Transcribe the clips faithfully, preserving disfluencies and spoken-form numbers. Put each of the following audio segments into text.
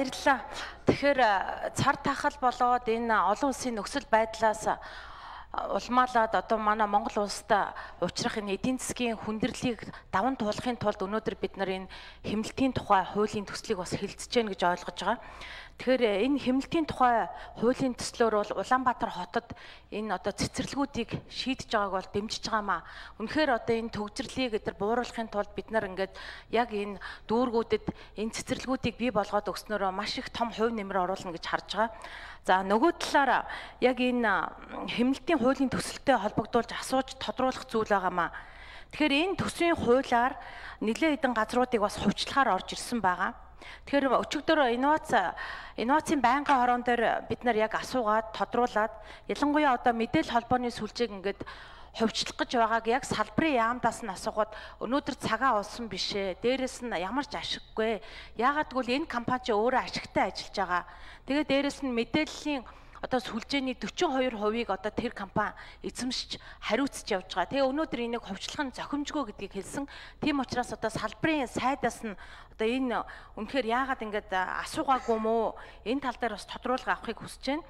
Баярлалаа. Тэгэхээр цар тахал болоод энэ олон улсын нөхцөл байдлаас улмаалаад одоо манай Монгол улсад учрах энэ эдийн засгийн хүндрэлийг даван туулахын тулд өнөөдөр бид нар энэ хэмнэлтийн тухай хуулийн төслийг бас хэлэлцэж гэнэ гэж ойлгож байгаа. Тэгэхээр энэ хэмнэлтийн тухай хуулийн төслөөр бол Улаанбаатар хотод энэ одоо цэцэрлэгүүдийг шийдэж байгааг бол дэмжиж байгаамаа. Үнэхээр одоо энэ төгжрлийг эдгээр бууруулахын тулд бид нар ингээд яг энэ дүүргүүдэд энэ цэцэрлэгүүдийг бий болгоод өгснөөрөө маш их том хувь нэмэр оруулна гэж харж байгаа. За нөгөө талаараа яг энэ хэмнэлтийн хуулийн төсөлтэй холбогдуулж асууж тодруулах зүйл байгаамаа. Тэгэхээр энэ төсвийн хуулиар нэлээд хэдэн газруудыг бас хувьчлагаар орж ирсэн байгаа. Тэгэхээр өчигдөр инновац инновацийн байнгын хорон дээр бид нар яг асуугаад тодруулаад ялангуяа одоо мэдээлэл холбооны сүлжээг ингээд хувьчлах гэж байгааг яг салбарын яамдаас нь асуухад өнөөдөр цагаа олсон бишээ. Дээрээс нь ямар ч ашиггүй. Яагаад гэвэл энэ компани ч өөрөө ашигтай ажиллаж байгаа. Тэгээд дээрээс нь мэдээллийн одоо сүлжээний дөрвөн хоёр хувийг одоо тэр компани эзэмшиж хариуцж явж байгаа. Тэгээ өнөөдөр энийг хувьчлах нь зохимжгүй гэдгийг хэлсэн. Тийм учраас одоо салбарын сайдаас нь одоо энэ үнэхээр яагаад ингэж асуугаагүй мó энэ тал дээр бас тодруулга авахыг хүсэж байна.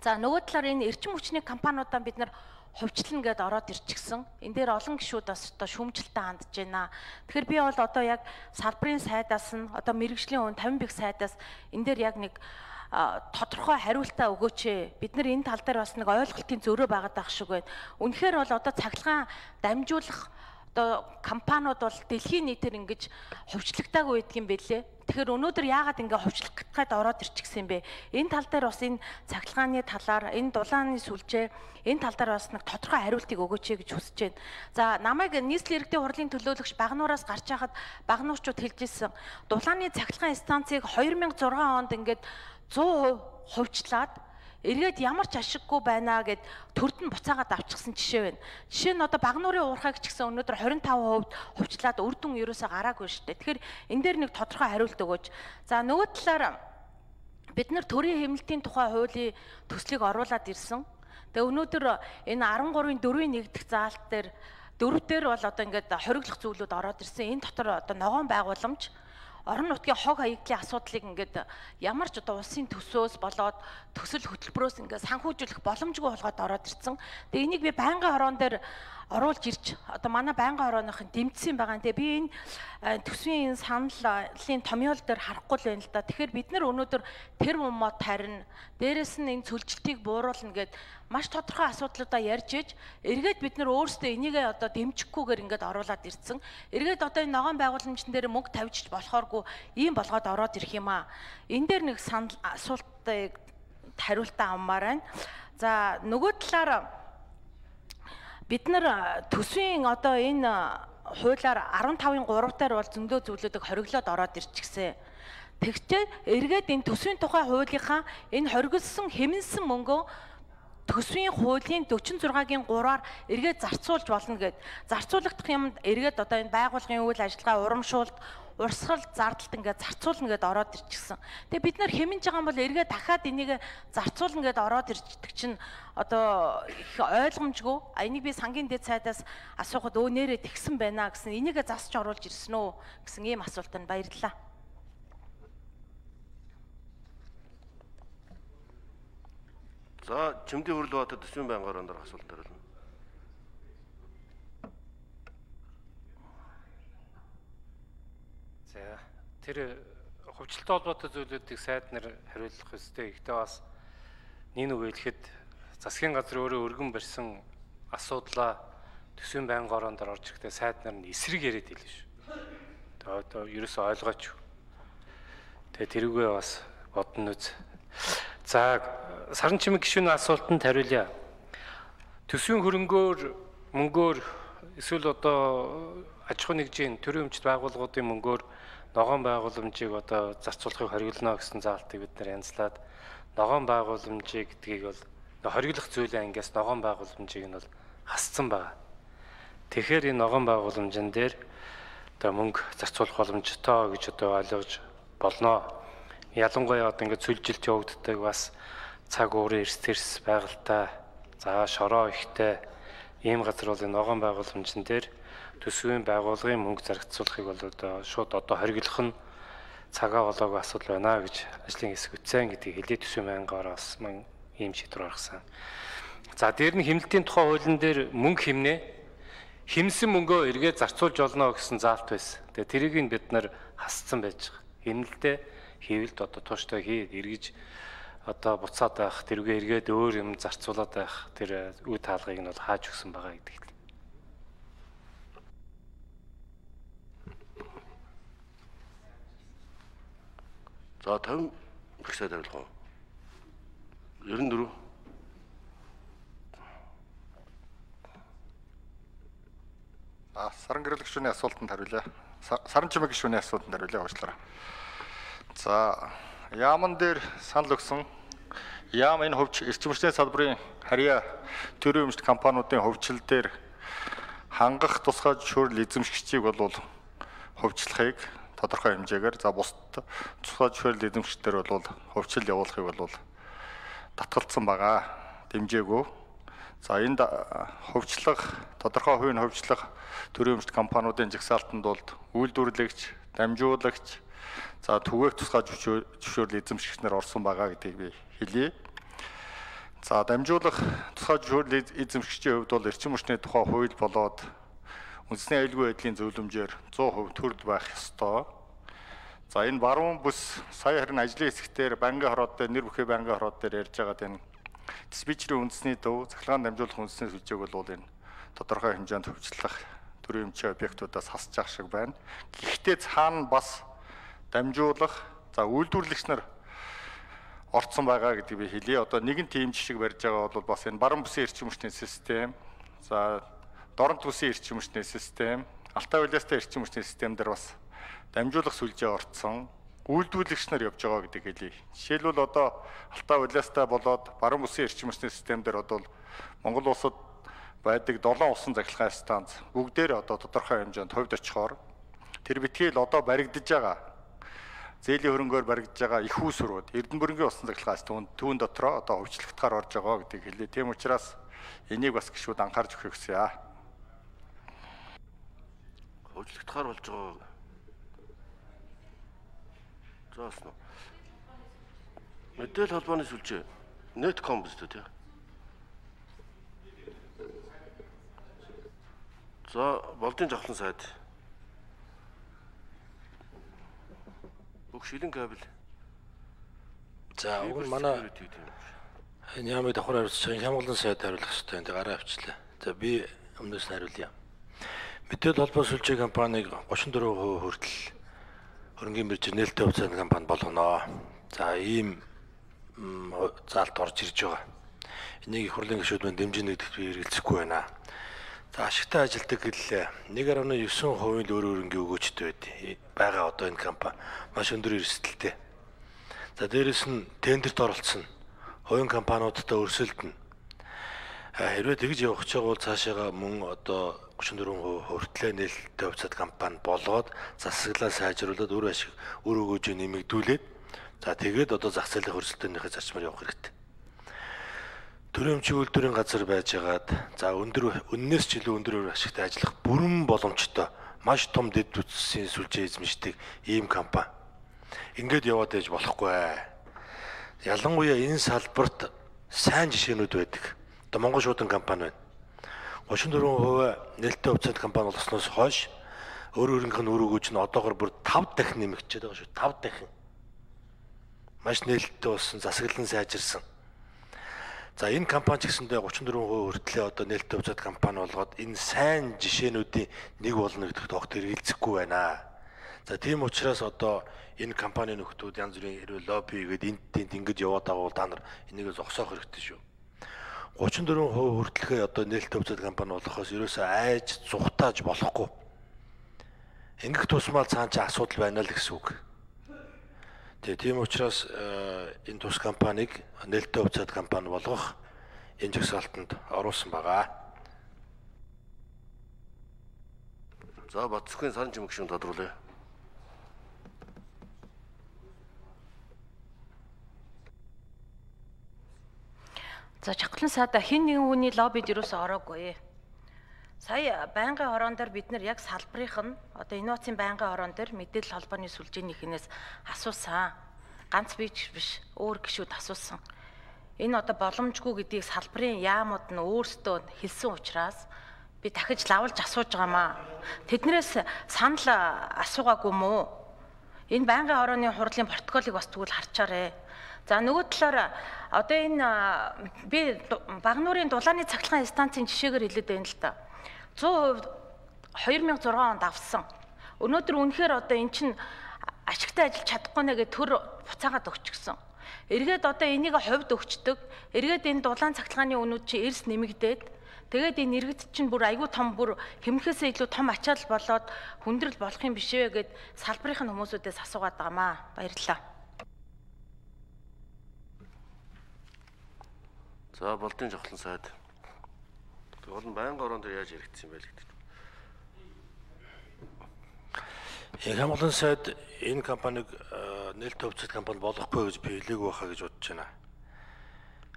За нөгөө талаар энэ эрчим хүчний компаниудаа бид нар хувьчлана гэдээ ороод ирчихсэн. Энэ дээр олон гишүүд бас одоо шүүмжлэлтэй хандж байна. Тэгэхээр би бол одоо яг салбарын сайдаас нь одоо мэрэгжлийн өн тавин бих сайдаас энэ дээр яг нэг тодорхой хариултаа өгөөч. Бид нар энэ тал дээр бас нэг ойлголтын зөрөө байгаад байх шиг байна. Үнэхээр бол одоо цахилгаан дамжуулах одоо компаниуд бол дэлхийн нийтээр ингэж хувьчлагтаагүй байдаг юм бэлээ. Тэгэхээр өнөөдөр яагаад ингэ хувьчлах гэдгээд ороод ирчихсэн юм бэ? Энэ тал дээр бас энэ цахилгааны талаар, энэ дулааны сүлжээ, энэ тал дээр бас нэг тодорхой хариултыг өгөөч гэж хүсэж байна. За намайг нийслэлийн иргэдийн хурлын төлөөлөгч Багнуураас гарч байхад Багнуурчууд хэлж ирсэн. Дулааны цахилгаан станцыг две тысячи шесть онд ингээд сто процент хувьчлаад эргээд ямар ч ашиггүй байна гэд төрд нь буцаагаад авчихсан жишээ байна. Жишээ нь одоо Багнуурын уурхайг ч гэсэн өнөөдөр двадцать пять хувьд хувьчлаад үр дүн ерөөсөө гараагүй шүү дээ. Тэгэхээр энэ дээр нэг тодорхой хариулт өгөөч. За нөгөө талаар бид нар төрийн хэмнэлтийн тухай хуулийн төслийг оруулаад ирсэн. Тэгээ өнөөдөр энэ13-ын дөрвийн нэг дахь заалт дээр дөрөв дээр бол одоо ингээд хориглох зүйлүүд ороод ирсэн. Энэ дотор одоо ногоон байгууламж орон нутгийн хог хаягдлын асуудлыг ингээд ямар ч одоо улсын төсөөс болоод төсөл хөтөлбөрөөс ингээд санхүүжүүлэх боломжгүй болгоод ороод ирсэн. Тэгээ энийг би байнгын хорон дээр оруулж ирж одоо манай байнгын хорооныхын дэмжсэн байгаа. Тэгээ би энэ төсвийн энэ саналын томьёол дээр харахгүй л байна л да. Тэгэхээр бид нар өнөөдөр тэр мод тарина. Дээрээс нь энэ цөлжилтийг бууруулна гэд маш тодорхой асуудлуудаа ярьж иж эргээд бид нар өөрсдөө энийг одоо дэмжихгүйгээр ингээд оруулаад ирсэн. Эргээд одоо энэ ногоон байгууламжн дээр мөнгө тавьчих болохооргүй ийм болгоод ороод ирэх юм аа. Энэ дээр нэг санал асуултыг хариултаа авмаар байна. За нөгөө талаар бид нар төсвийн одоо энэ хуулиар15-ын три дээр бол зөндөө зүйлүүдийг хориглоод ороод ирчихсэн. Тэгвэл эргээд энэ төсвийн тухай хуулийнхаа энэ хоригдсон хэмнсэн мөнгөө төсвийн хуулийн forty-six-гийн тhree-аар эргээд зарцуулж болно гэд. Зарцуулагдах юмд эргээд одоо энэ байгууллагын үйл ажиллагаа урамшуулт, урсгал, зардалт ингээд зарцуулна гэд ороод ирчихсэн. Тэгээ бид нар хэмнэж байгаа юм бол эргээд дахиад энийг зарцуулна гэд ороод ирдэг чинь одоо их ойлгомжгүй. А энийг би сангийн дэд сайдаас асуухад өө нэрээ тэгсэн байна гэсэн. Энийг засч оруулж ирсэн үү гэсэн ийм асуултанд баярлалаа. За Чимдийн хурл хотод төсвийн байнгын хорон дээр асуулт төрүүлнэ. За тэр хувьчлалтай холбоотой зүйлүүдийг сайд нар хариулах ёстой. Гэхдээ бас нэг үг хэлэхэд засгийн газар өөрөө өргөн барьсан асуудлаа төсвийн байнгын хорон дээр орж ирэхдээ сайд нар нь эсрэг яриад хэлнэ шүү. Тэгээ одоо ерөөсөө ойлгооч. Тэгээ тэрүүгээ бас бодно үз. За саран чимэг гишүүний асуултанд хариулъя. Төсвийн хөрөнгөөр мөнгөөр эсвэл одоо аж ахуй нэгжийн төрийн өмчт байгууллагуудын мөнгөөр ногоон байгууламжийг одоо зарцуулахыг хориглоно гэсэн заалтыг бид нар янзлаад ногоон байгууламжийг гэдгийг бол хориглох зүйлээ ангиас ногоон байгууламжийг нь бол хасцсан байна. Тэгэхээр энэ ногоон байгууламжин дээр одоо мөнгө зарцуулах боломжтой гэж одоо ойлгож болно. Ялангуяа одоо ингээд сүлжилт явагддаг бас цаг уурын эрс тэрс байгальтай, за шороо ихтэй ийм газар бол энэ ногоон байгууламжин дээр төсвийн байгууллагын мөнгө зарцуулахыг бол одоо шууд одоо хориглох нь цагаа болоогүй асуудал байна гэж ажлын хэсэг үтсэн гэдгийг хэлээд төсвийн байнгаараа бас мань ийм шийдвэр гаргасан. За дээр нь хэмнэлтийн тухай хуулийн дээр мөнгө хэмнээ хэмсэн мөнгөө эргээд зарцуулж олно гэсэн заалт байсан. Тэгээ тэрийг нь бид нар хасцсан байж байгаа. Хэмнэлтэд хийвэлд одоо тууштай хий эргэж одоо буцаад байх, тэрүүгээ эргээд өөр юм зарцуулаад байх тэр үе таалгыг нь бол хааж өгсөн байгаа гэдэг. За тавин их сайд хариулах уу? девяносто четыре. А саран гэрэл гишүүний асуултанд хариулъя. Саран чимэг гишүүний асуултанд хариулъя уучлаарай. За яаман дээр санал өгсөн яам энэ хөвч эрчим хүчний салбарын харьяа төрийн өмчт компаниудын хөвчлөл дээр хангах тусгай зөвшөөрөл эзэмшигчийг бол хөвчлөхийг тодорхой хэмжээгээр за бусад тусгай зөвшөөрөл эзэмшигчдэр бол хөвчлөл явуулахыг бол татгалцсан байгаа. Дэмжээгөө. За энд хөвчлөх тодорхой хувийн хөвчлөх төрийн өмчт компаниудын жагсаалтанд бол үйлдвэрлэгч, дамжуулагч, за түгээх тусгай зөвшөөрөл эзэмшигч нар орсон байгаа гэдгийг би хэлье. За дамжуулах тусгай зөвшөөрөл эзэмшигчийн хувьд бол эрчим хүчний тухай хууль болоод үндэсний аюулгүй байдлын зөвлөмжөөр цуул хувь төрөл байх ёстой. За энэ баруун бүс сая харин ажлын хэсгээр банкны хороод дээр нэр бүхий банкны хороод дээр ярьж байгаа энэ диспетчерийн үндэсний төв, цахилгаан дамжуулах үндэсний сүлжээг бол энэ тодорхой хэмжээнд хөвчлөх төрийн өмчийн объектуудаас хасж ах шиг байна. Гэхдээ цаана бас дамжуулах, за үйлдвэрлэгч нар орцсон байгаа гэдгийг би хэлье. Одоо нэгэн тийм жишг барьж байгаа бол бас энэ баруун бүсийн эрчим хүчний систем, за дорнод бүсийн эрчим хүчний систем, Алтай улаастай эрчим хүчний систем дээр бас дамжуулах сүлжээ орцсон, үйлдвэрлэгч нар явж байгаа гэдгийг хэлье. Жишээлбэл одоо Алтай улаастай болоод баруун бүсийн эрчим хүчний систем дээр одоо Монгол улсад байдаг долоон усан цахилгаан станц бүгдээр одоо тодорхой хэмжээнд хувьд очихоор тэр битгий л одоо баригдаж байгаа зээлийн хөрөнгөөр баригдаж байгаа их үүсвэрүүд Эрдэнэбүрэнгийн усан цахилгаан станц түүн дотроо одоо хөвчлөгтгаар орж байгаа гэдгийг хэлье. Тийм учраас энийг бас гишүүд анхаарч өгөх гэсэн яа. Хөвчлөгтгаар болж байгаа. Зааснаа. Мэдээлэл холбооны сүлжээ Netcom биз дээ. За болдын жавхлан сайд. Бүх шилэн кабель. За уг нь манай энэ ямыг давхар хариуцж байгаа хямгалан сайд хариулах хэрэгтэй. Энд гараа авчлаа. За би өмнөөс нь хариулъя. Мэдээлэл холбоо сүлжээ компаниг гучин дөрвөн хувь хүртэл хөрөнгөний биржээр нээлттэй хувьцааны компани болгоно. За ийм заалт орж ирж байгаа. Энийг их хурлын гишүүд мань дэмжинэ гэдэгт би эргэлзэхгүй байна. За ашигтай ажилдаг хэллээ. нэг гаруй девять хувийн л өөр хөрөнгөний өгөөчтэй байд. Бага одоо энэ компани маш өндөр эрсдэлтэй. За дээрэс нь тендерт оролцсон хувийн компаниудтай өрсөлдөнө. Хэрвээ тэгж явах гэж байгаа бол цаашаага мөн одоо гучин дөрвөн хувь хүртлээ нээлттэй хувьцаат компани болгоод засаглаа сайжруулад өөр ашиг өөр өгөөжөө нэмэгдүүлээд за тэгээд одоо зах зээлийн хөрсөлтөөнийхөө зарчмаар явах хэрэгтэй. Төрийн өмчийн үйлдвэрийн газар байжгаад за өндөр үннээс ч илүү өндөр ашигтай ажиллах бүрэн боломжтой маш том дэд бүтцийн сүлжээ эзэмшдэг ийм компани. Ингээд яваад ээж болохгүй. Ялангуяа энэ салбарт сайн жишээнүүд байдаг. Одоо Монгол шуудан компани байна. гучин дөрвөн хувь нээлттэй хувьцаат компани болсноос хойш өөр өөрийнх нь өөр өгөөж нь одоогор бүр тавд дахин нэмэгдчихэд байгаа шүү. тавд дахин. Маш нээлттэй болсон, засаглан сайжирсан. За энэ компани ч гэсэндээ гучин дөрвөн хувь хүртлээ одоо нээлттэй хувьцаат компани болгоод энэ сайн жишээнүүдийн нэг болно гэдэгт огт эргэлзэхгүй байна. За тийм учраас одоо энэ компани нөхдүүд янз бүрийн хэрвээ лобби хийгээд энд тэнд ингэж яваад байгаа бол та нар энийг зогсоох хэрэгтэй шүү. гучин дөрвөн хувь хүртэлхээ одоо нээлттэй хувьцаат компани болохоос ерөөсөө айж зүхтааж болохгүй. Ингэх тусмал цаана ч асуудал байна л гэсэн үг. Тэгээ тийм учраас энэ тус компанийг нээлттэй хувьцаат компани болгох энэ жагсаалтанд оруулсан байгаа. За Батцгийн саран чимэг гишүүн тодруулъя. За Чавхлан сайда хэн нэгэн хүний лоббид юусоо ороогүй. Сая байнгын хорон дээр бид нар яг салбарынх нь одоо инновацийн байнгын хорон дээр мэдээлэл холбооны сүлжээнийхнээс асуусан. Ганц бич биш, өөр гишүүд асуусан. Энэ одоо боломжгүй гэдгийг салбарын яамууд нь өөрсдөө хэлсэн учраас би дахиж лавлж асууж байгаамаа. Тэднээс санал асуугаагүй мүү? Энэ байнгын хорооны хурлын протоколыг бас тэгвэл харчаарэ. За нөгөө талаар одоо энэ би Багнуурын дулааны цахилгаан станцын жишээгээр хэлээд байна л да. цээн хувьд хоёр мянга зургаан онд авсан. Өнөөдөр үнэхээр одоо эн чинь ашигтай ажиллаж чадахгүй нэ гэж төр буцаагаад өгчихсөн. Эргээд одоо энийг хувьд өгчдөг. Эргээд энэ дулаан цахилгааны үнүүд чи эрс нэмэгдээд тэгээд энэ иргэд чинь бүр айгүй том бүр хэмнэхээсээ илүү том ачаал болоод хүндрэл болох юм биш ээ гэд салбарын хүмүүсүүдээс асуугаад байгаамаа. Баярлалаа. За болдын жавхлан сайд. Тэгвэл байнгын хороонд яаж яригдсан юм бэ гэдэг. Яг хамгаалалтын сайд энэ компаниг нээлттэй хувьцат компани болохгүй гэж би хэлээгүй байхаа гэж бодож байна.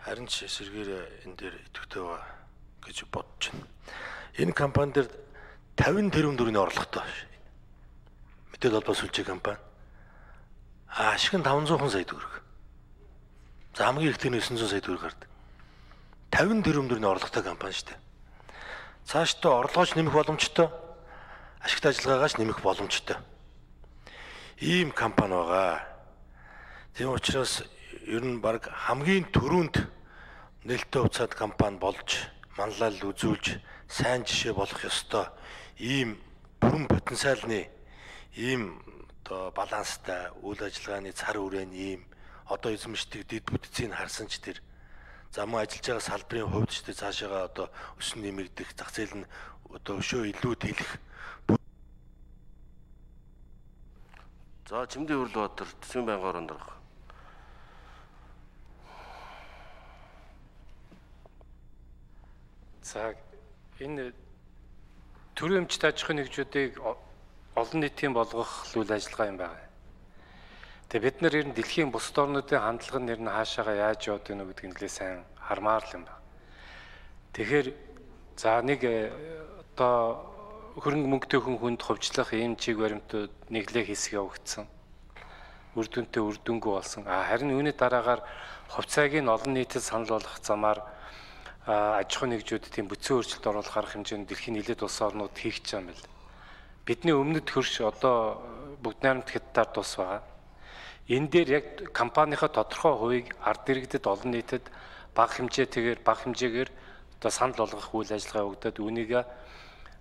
Харин ч эсэргээр энэ дээр идэвхтэй байгаа гэж бодож байна. Энэ компани дээр тавин тэрбум төгрөгийн орлоготой. Мэдээлэл холбоо сүлжээ компани. Аа ашиг нь таван зуун сая төгрөг. За хамгийн ихтэй нь900 сая төгрөг гардаг. тавин тэрбум төгрөгийн орлоготой компани шүү дээ. Цаашдаа орлогооч нэмэх боломжтой, ашигтай ажиллагаагач нэмэх боломжтой. Ийм компани байгаа. Тийм учраас ер нь баг хамгийн түрүүнд нээлттэй хувьцаат компани болж, манлайлал үзүүлж, сайн жишээ болох ёстой. Ийм бүрэн потенциалны ийм одоо баланстай үйл ажиллагааны цар хүрээний ийм одоо эзэмшдэг дэд бүтцийг харсан ч тэр замун ажиллаж байгаа салбарын хувьд ч тэр цаашаага одоо өсөн нэмэгдэх, зах зээл нь одоо өшөө илүү тэлэх. За Чимдийн Өрлөбаатар Төсвийн байнгын хороонд орох. За энэ төрийн өмчт аж ахуйн нэгжүүдийг олон нийтийн болгох үйл ажиллагаа юм байна. Тэгээ бид нар ер нь дэлхийн бусад орнуудын хандлага нь ер нь хаашаага яаж яваад байна гэдгийг нэлээд сайн хармаар л юм байна. Тэгэхээр за нэг одоо хөрөнгө мөнгөтэй хүн хүнд хувьчлах ийм чиг баримтууд нэглээ хэсэг явагдсан. Үр дүнтэй үр дүнгүй болсон. А харин үүний дараагаар хувьцааг нь олон нийтэд санал болгох замаар аж ахуйн нэгжүүд тийм бүцэн өөрчлөлт оруулах арга хэмжээнд дэлхийн нэлээд улс орнууд хийх гэж байгаа юм байна. Бидний өмнөд хөрш одоо бүгд найрамд хятадаар тус байгаа. Энэ дээр яг компанийнхаа тодорхой хувийг ард иргэдэд олон нийтэд бага хэмжээтэйгээр бага хэмжээгээр одоо санал болгох үйл ажиллагаа явагдаад үүнийг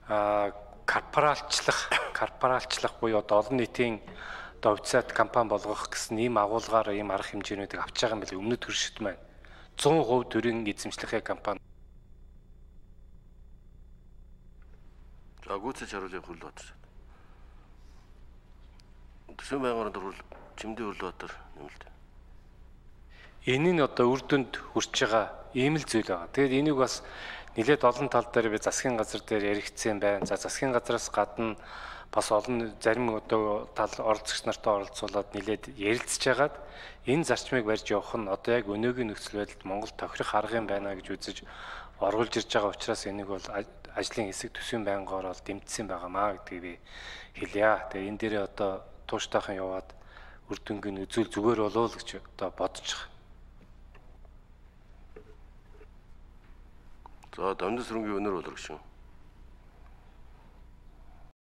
а корпоралчлах корпоралчлах буюу одоо олон нийтийн одоо хувьцаат компани болгох гэсэн ийм агуулгаар ийм арга хэмжээнүүдийг авч байгаа юм байна. Өмнөд хөршид маань цээн хувь төрийн эзэмшлэхээ компани. За гүйцэж харуулъя Өрлөбаатар. Төсвийн байнгын хороонд орвол Чимдийн Өрлөбаатар нэмэлт. Энэ нь одоо үр дүнд хүрч байгаа ийм л зүйл байгаа. Тэгээд энийг бас нэлээд олон тал дээр би засгийн газар дээр яригдсан байна. За засгийн газраас гадна бас олон зарим одоо тал оролцогч нартай оролцуулаад нэлээд ярилцж байгаад энэ зарчмыг барьж явах нь одоо яг өнөөгийн нөхцөл байдалд Монгол тохирох арга юм байна гэж үзэж оргуулж ирж байгаа учраас энийг бол ажлын хэсэг Төсвийн байнгын хороонд дэмжсэн байгаамаа гэдгийг би хэлье. Тэгээ энэ дээрээ одоо тууштайхан яваад үр дүнгийн үзүүл зүгээр болов уу гэж одоо бодож байгаа. За Дамжин сүрэнгийн өнөр болор гүшүүн.